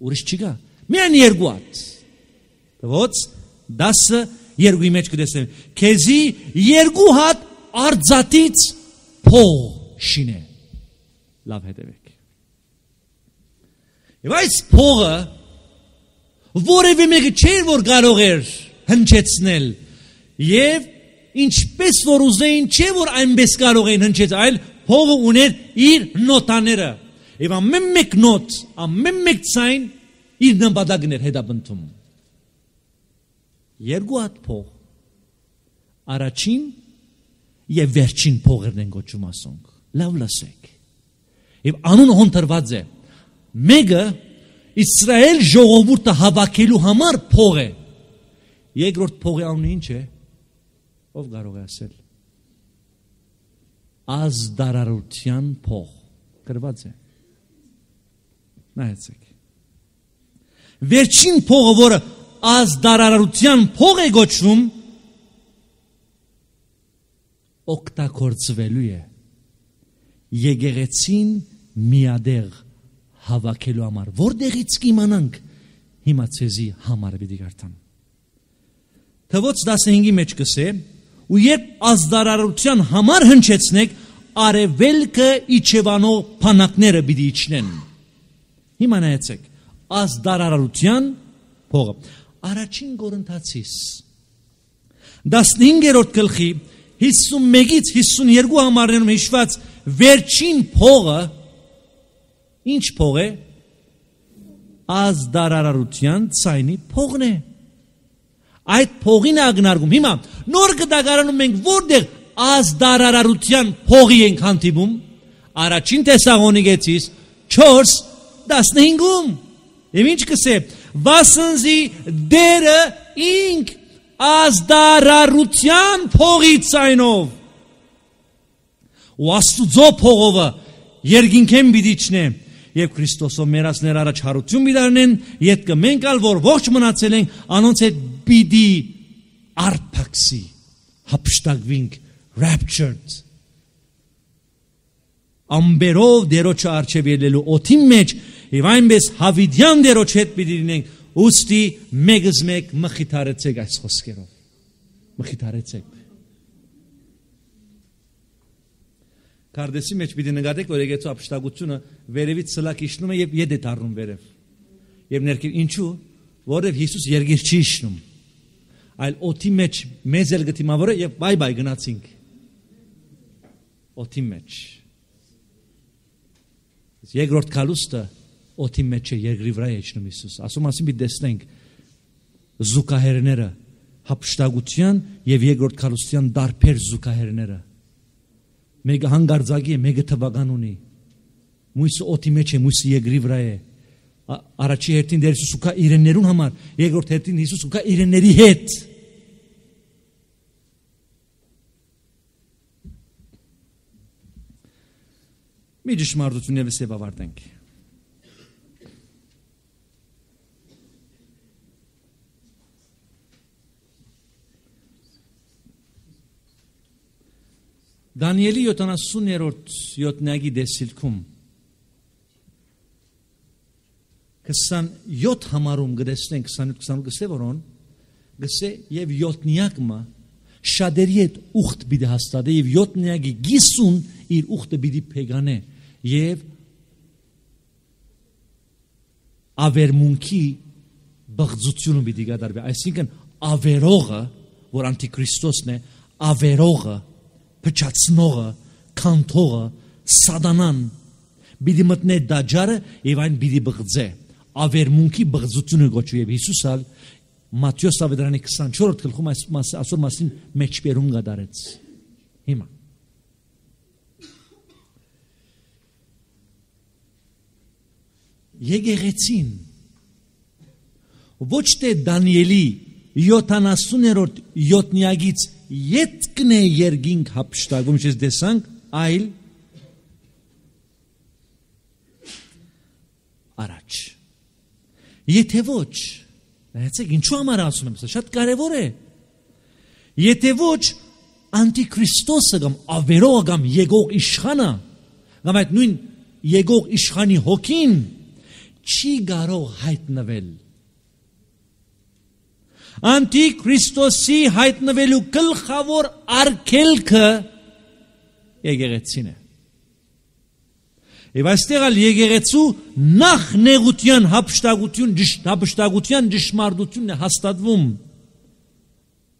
Ուրիշ չկա։ Միայն երկու հատ։ Ոնց 10:2 մեջ կտեսնեմ։ Քեզի երկու հատ արձատից փող շինե։ Լավ հետևեք։ Եվ այս փողը որևէ մեկը չէր որ կարող էր հնչեցնել եւ ինչպես որ ուզեին չէ որ այնպես կարող էին հնչեցնել, այլ փողը ուներ իր նոտաները եւ ամեն մեկ նոտ, ամեն մեկ ցայն իր նպատակն էր հետապնդում։ Երկու հատ փող, առաջին եւ վերջին փողերն են գոչում ասոնք։ Լավ լսեք։ Եվ անունը հոնտրված է։ Մեկը Իսրայել ժողովուրդը հավաքելու համար փող է։ Երկրորդ փողի անունը ինչ է։ Ով կարող է ասել։ Ազդարարության փող։ Գրված է։ Նայեցեք։ Վերջին փողը, որը ազդարարության փող է գոչվում, օգտագործվելու է եկեղեցին միադեղ հավաքելու համար, որտեղից կիմանանք հիմա ցեզի համար պիտի գարտամ։ Թվոց 15-ի մեջ կսե, ու երբ ազդարարության համար հնչեցնեք, արևելքը իջևանող փանակները պիտի իջնեն։ Հիմա նայեցեք, ազդարարության փողը։ Առաջին Կորինթացիս 15-րդ գլխի 51-ից 52 համարներում հիշված վերջին փողը ինչ փող է։ Ազդարարության ցայնի փողն է։ Այդ փողին ագնարգում։ Հիմա նոր գդագարանում մենք որտեղ ազդարարության փողի ենք հանդիպում։ Առաջին Թեսաղոնիկեցիս 4:15-ում։ Եվ ինչ կսե։ Վասնզի դերը ինք ազդարարության փողի ցայնով։ Ու Աստուծո փողովը երկինքեն բիդիչնե եւ Քրիստոսով մերածներ առաջ հարություն բիդարնեն, յետքը մենք ալ որ ողջ մնացել ենք, անոնց հետ բիդի արփակսի, հապշտակվինք, raptured։ Ամբերով դերոջը արչև ելելու օթի մեջ եւ այնպես հավիդյան դերոջ հետ պիտի լինենք, ուստի մեկս մեկ մխիթարեցեք այս խոսքերով։ Մխիթարեցեք։ Կարդեսի մեջ պիտի նկատեք, որ եկեղեցու ապշտակությունը վերևից սլակ իջնում է եւ ետ է դառնում վերև։ Եվ ներքև ինչու, որովհետեւ Հիսուս երգիր չի իջնում, այլ օթի մեջ մեզ էլ գտիմավորը եւ բայ գնացինք։ Օթի մեջ։ Երկրորդ կալուստը օթի մեջ է, երկրի վրա է իջնում Հիսուս։ Ասում ասին պիտի տեսնենք զուգահեռները, հապշտակության եւ երկրորդ կալուստյան դարբեր զուգահեռները։ Մեկը հանգարձակի է, մեկը թվական ունի։ Մույսը օթի մեջ է, մույսը երկրի վրա է։ Առաջի հերթին դեր Հիսուս ուկա իրեններուն համար, երկրորդ հերթին Հիսուս ուկա իրենների հետ։ Մի ճշմարտություն ևս եւ ավարտենք։ Դանիելի 70-րդ յոթնագի դեսիլքում 27 համարում գտեսնենք 28-28 գսե որոն գսե եւ յոթնյակը շադերի հետ ուխտ բիդի հաստատե եւ յոթնյակի գիսուն իր ուխտը բիդի փեգանե եւ ավերմունքի բղձությունը բիդի գդարվի, այսինքն ավերողը, որ անտիքրիստոսն է, ավերողը փչացնողը, կանթողը, սատանան Բիդի մտնե դաջարը եւ այն բիդի բղձե ավերմունքի բղձությունը գոչվի եւ Հիսուսալ Մատթեոս ավետարանի 24-րդ գլխում այսօր մասին մեջբերում գդարեց հիմա եկեղեցին ոչ թե Դանիելի 70-րդ յոթնյակից ետքն է երկինք հափշտակում ինչպես տեսանք այլ առաջ եթե ոչ նայեցեք ինչու համար ասում եմ սա շատ կարևոր է եթե ոչ անտիքրիստոսը կամ ավերողը կամ եկող իշխանը կամ այդ նույն եկող իշխանի հոգին չի կարող հայտնվել Անտիքրիստոսի հայտնվելու գլխավոր արգելքը եկեղեցին է Եվ այստեղ ալ եկեղեցու նախ նեղության հափշտակության ճշմարտությունն է հաստատվում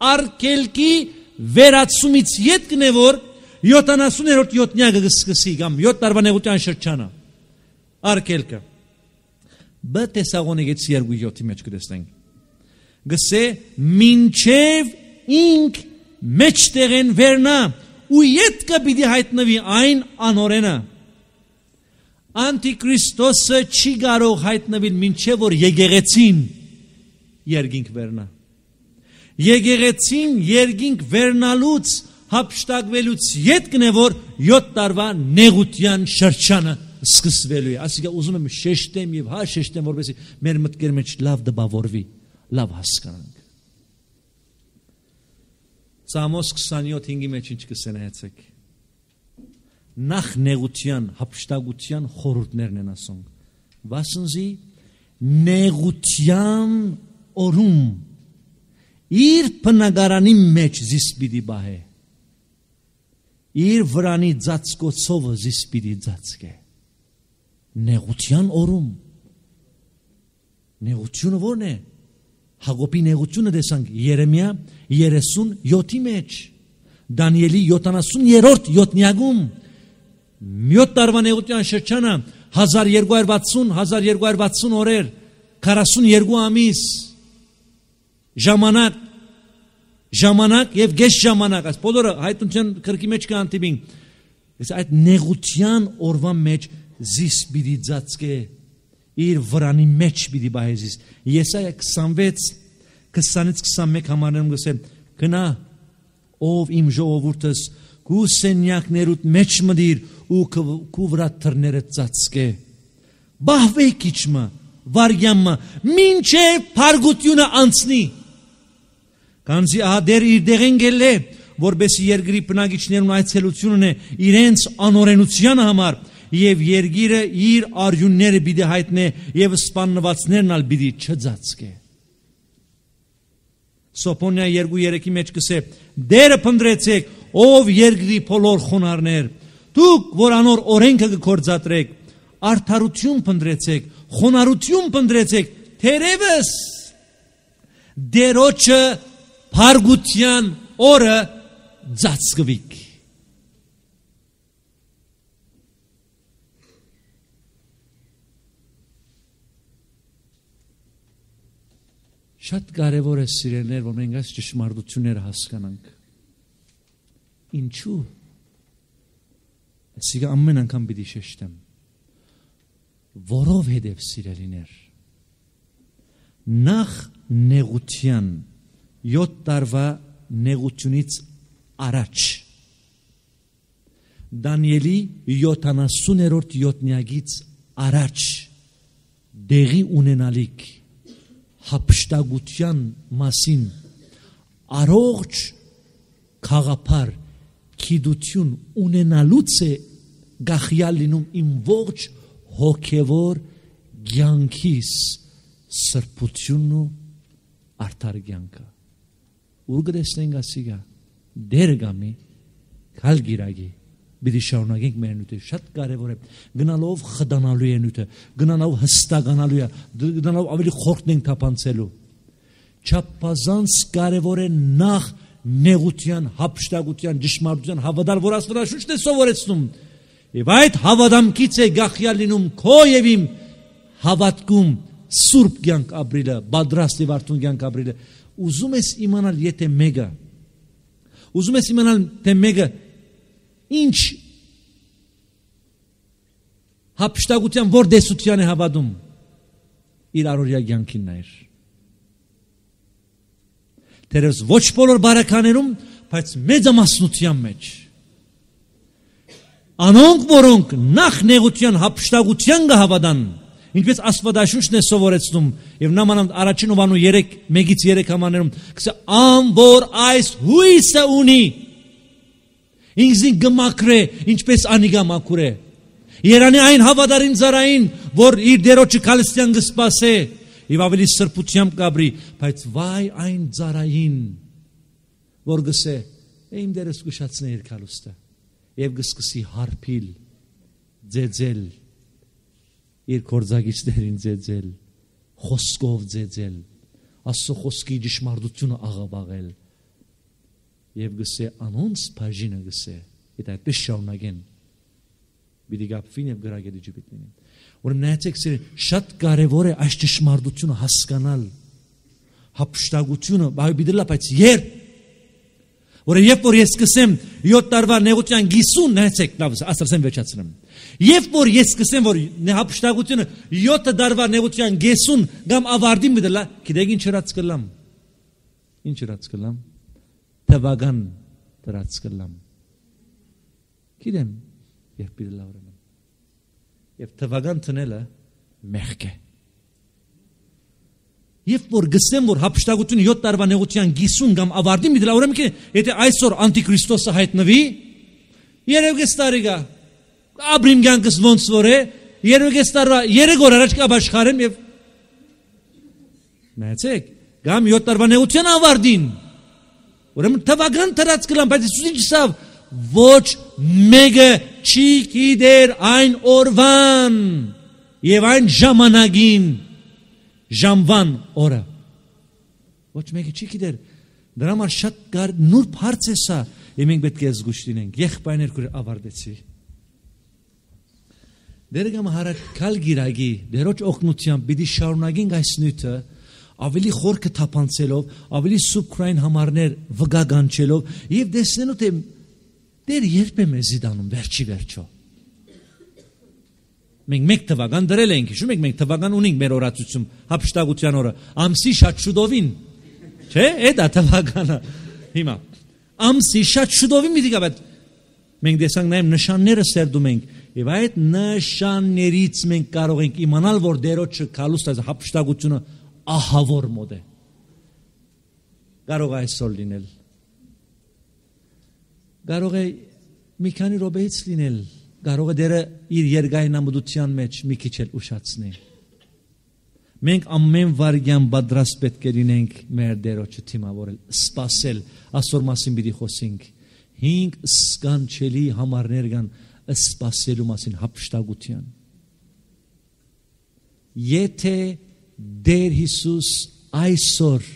արգելքի վերացումից ետքն է որ 70-րդ յոթնյակը կսկսի կամ 7 տարվա նեղության շրջանը արգելքը Բ Թեսաղոնիկեցի 2:7-ի մեջ կտեսնենք Գսե մինչև ինք մեջտեղեն վերնա ու ետքը պիտի հայտնվի այն անօրենը Անտիքրիստոսը չի կարող հայտնվել մինչև որ եկեղեցին երկինք վերնա եկեղեցին երկինք վերնալուց հափշտակվելուց ետքն է որ 7 տարվա նեղության շրջանը սկսվելու է ասիկա ուզում եմ շեշտեմ եւ հա շեշտեմ որպեսզի մեր մտքերի մեջ լավ դպավորվի լավ հասկանանք Սամոս 27:5-ի մեջ ինչ կսենայեցեք նախ նեղության հափշտակության խորհուրդներն են ասում վասնզի նեղության օրում իր բնակարանի մեջ զիս պիտի բահե իր վրանի ծածկոցովը զիս պիտի ծածկե նեղության օրում նեղությունը ո՞րն է Հակոբի նեղությունը տեսանք Երեմիա 37-ի մեջ Դանիելի 70-րդ յոթնյակում 7 տարվա նեղության շրջանը 1260 օրեր 42 ամիս ժամանակ եւ գեշ ժամանակ այս բոլորը հայտնության քրկի մեջ կանտիբին այդ նեղության օրվա մեջ զիս պիտի ծածկե իր վրանի մեջ պիտի բահեզիս Եսայա 26:20-21 համարներում գսեմ գնա ով իմ ժողովուրդս քու սենյակներուդ մեջ մտիր ու քու վրա թռները ծածկե բահվեք իջմը վարյամը մինչև փարգությունը անցնի Կանզի ահա դեր իր դեղեն գելե որբեսի երկրի բնակիչներուն այցելությունն է իրենց անօրենության համար Եվ երգիրը իր արյունները պիտի հայտնե եւ սպաննվածներն ալ պիտի չծածկե Սոփոնիա 2:3-ի մեջ կսե դերը փնտրեցեք ով երկրի բոլոր խոնարհներ դուք որ անոր օրենքը կգործադրեք արդարություն փնտրեցեք խոնարհություն փնտրեցեք թերևս դերոջը փարգության օրը ծածկվիկ Շատ կարևոր է սիրելիներ, որ մենք այս ճշմարտությունները հասկանանք։ Ինչու՞։ Այսինքն ամեն անգամ պիտի շեշտեմ։ Որովհետև սիրելիներ, նախ նեղության 7 տարվա նեղությունից առաջ Դանիելի 70-րդ յոթնյակից առաջ դեղի ունենալիք հափշտակության մասին առողջ խաղապար քիդություն ունենալուց է գախյալ լինում իմ ողջ հոգևոր կյանքիս սրբությունն ու արդար կյանքը ուր գտեսնենք ասիգա դեր գամի քալ գիրագի Բիդի շարունակենք մեր նյութը շատ կարևոր է գնալով խդանալու է նյութը գնալով հստականալու է գնալով ավելի խորտն թափանցելու չափազանց կարևոր է նախ նեղության հափշտակության ճշմարտության հավատալ որ Աստվածաշունչն է սովորեցնում Եվ այդ հավատամքից է գախյալ լինում քո եւ իմ հավատքում սուրբ կյանք ապրելը, պատրաստ եւ արթուն կյանք ապրելը։ Ուզում ես իմանալ եթե մեկը, ուզում ես իմանալ թե մեկը ինչ հապշտակության որ դեսության է հավատում, իր առօրյա կյանքին նայր։ Թերևս ոչ բոլոր բարականերում, բայց մեծամասնության մեջ անոնք որոնք նախ նեղության հապշտակության կհավատան, ինչպես Աստվածաշունչն է սովորեցնում, եւ նամանավանդ առաջին Հովանու 1:3 համարներում կսե ան որ այս հույսը ունի, ինքզին կմաքրե, ինչպես անիգա մաքուր է։ Երանի այն հավատարիմ ծառային, որ իր դերոջը քալստյան կսպասե եւ ավելի սրբությամբ կաբրի, բայց վայ այն ծառային, որ գսե իմ դերս կուշացնե իր քալուստը եւ գսկսի հարփիլ, ձեձել իր կորձագիչներին ձեձել, խոսքով ձեձել, Աստծո խոսքի ճշմարտությունը աղավաղել եւ գսե անոնց բաժինը գսե, այդ այդպես շարունակեն Բիդի գապվին եւ գրագետի ջիպիտնին։ Ուրեմն նայեցեք, շատ կարեւոր է այս ճշմարտությունը հասկանալ, հապշտակությունը, բայց որը երբ որ ես սկսեմ 7 տարվա նեղության գիսուն, նայեցեք, լավ, ասացեմ վերջացնեմ։ Երբ որ ես սկսեմ որ հապշտակությունը 7 տարվա նեղության գեսուն կամ ավարտի մտլա, գիտեք ինչ հրած կլամ։ Ինչ հրած կլամ։ Թվական հրած կլամ։ Գիտեմ, երբ բիլա ուրեմն։ Եվ թվական տնելը մեղք է։ Երբ որ գսեմ որ հապշտակությունը 7 տարվա նեղության գիսուն կամ ավարտի միտլա ուրեմն թե եթե այսօր անտիքրիստոսը հայտնվի, երևի տարիգա Աբրիմ կյանքս ոնց որ է, երևի տարվա 3 օր առաջ կաշխարեմ եւ նայեցեք, կամ 7 տարվա նեղության ավարտին։ Ուրեմն թվական դրած կլամ, բայց Հիսուսին չսավ ոչ մեկը չի գիտեր այն օրվան եւ այն ժամանակին ժամվան օրը ոչ մեկը չի գիտեր դրա համար շատ նուրբ հարց է սա եւ մենք պետք է զգուշ լինենք եղբայրներ քուր ավարտեցի դերգամ հարակալ գիրագի դերոջ օգնությամբ պիտի շարունակենք այս նյութը ավելի խորքը թափանցելով ավելի սուբկրային համարներ վգագանչելով եւ տեսնելու թե դեր երբ է մեզի դանում վերջի վերջո մենք մեկ թվական դրել ենք, հիշում եք մենք թվական ունենք մեր օրացույցում, հապշտակության օրը, ամսի շատ շուտովին, չէ, այդ է թվականը, հիմա, ամսի շատ շուտովին մի դիկա, բայց մենք դեսանք նաև նշանները սերդում ենք, և այդ նշաններից մենք կարող ենք իմանալ, որ դերոջը կալուստ այս հապշտակությունը ահավոր մոդ է, կարող է այսօր լինել, կարող է մի քանի րոպեից լինել, կարող է դերը իր երկայնամտության մեջ մի քիչ էլ ուշացնի։ Մենք ամեն վարյան պատրաստ պետք է լինենք մեր դերոջը թիմավորել, սպասել, այսօր մասին պիտի խոսենք։ 5 սկանչելի համարներ կան սպասելու մասին հապշտակության։ Եթե Տեր Հիսուս այսօր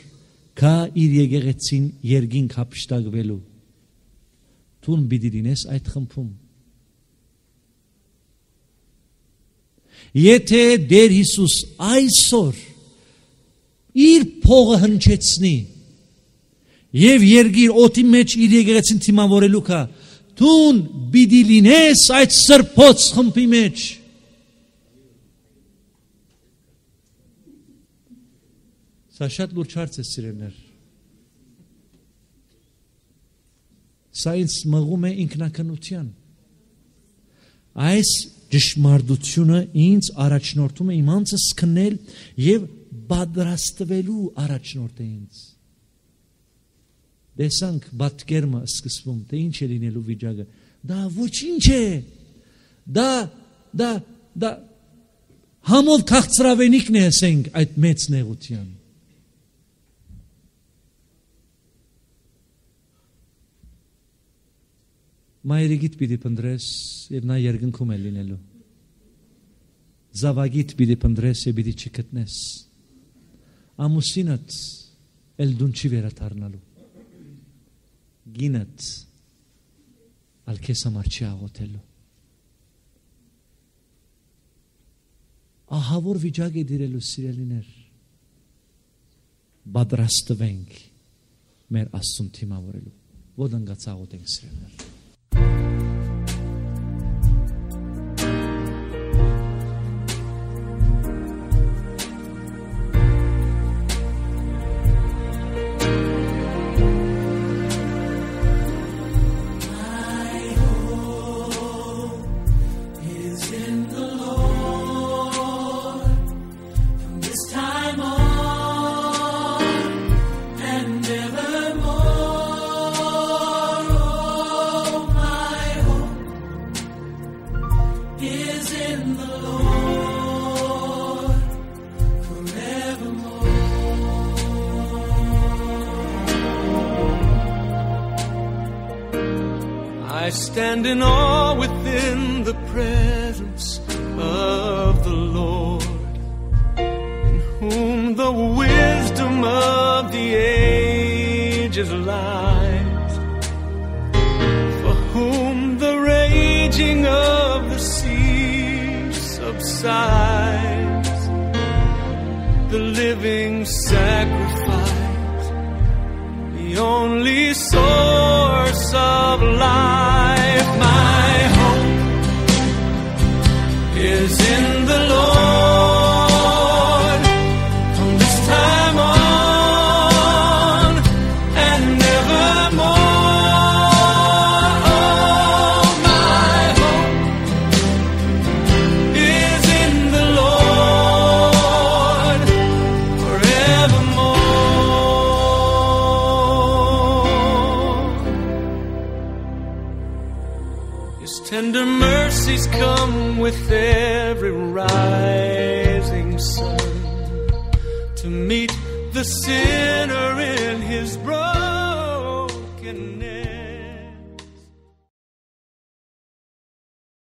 կա իր եկեղեցին երկինք հապշտակվելու, տուն պիտի լինես այդ խմբում։ Եթե Տեր Հիսուս այսօր իր փողը հնչեցնի եւ երգիր օդի մեջ իր եկեղեցին թիմավորելու կա, տուն պիտի լինես այդ սրբոց խմբի մեջ։ Սա շատ լուրջ հարց է սիրելիներ։ Սա ինձ մղում է ինքնակնության։ Այս ճշմարտությունը ինձ առաջնորդում է իմ անձս քնել եւ պատրաստվելու առաջնորդ է ինձ։ Տեսանք բատկերմը սկսվում, թե ինչ է լինելու վիճակը։ Դա ոչինչ է։ Դա համով քաղցրավենիքն է ասենք այդ մեծ նեղության։ Մայրիկիդ պիտի պնդրես և նա երկնքում է լինելու։ Զավագիդ պիտի պնդրես և պիտի չգտնես։ Ամուսինդ էլ դուն չի վերադառնալու։ Գինդ ալ քեզ համար չի աղոթելու։ ահավոր վիճակ է դիրելու սիրելիներ, պատրաստվենք մեր Աստծուն թիմավորելու, ոդանգած աղոթենք սիրելիներ։ I stand in awe within the presence of the Lord, in whom the wisdom of the ages lies, for whom the raging of the sea subsides, the living sacrifice, the only source of life. My hope is in the Lord from this time on and nevermore. Oh, my hope is in the Lord forevermore. His tender mercies come with every rising sun to meet the sinner in his brokenness.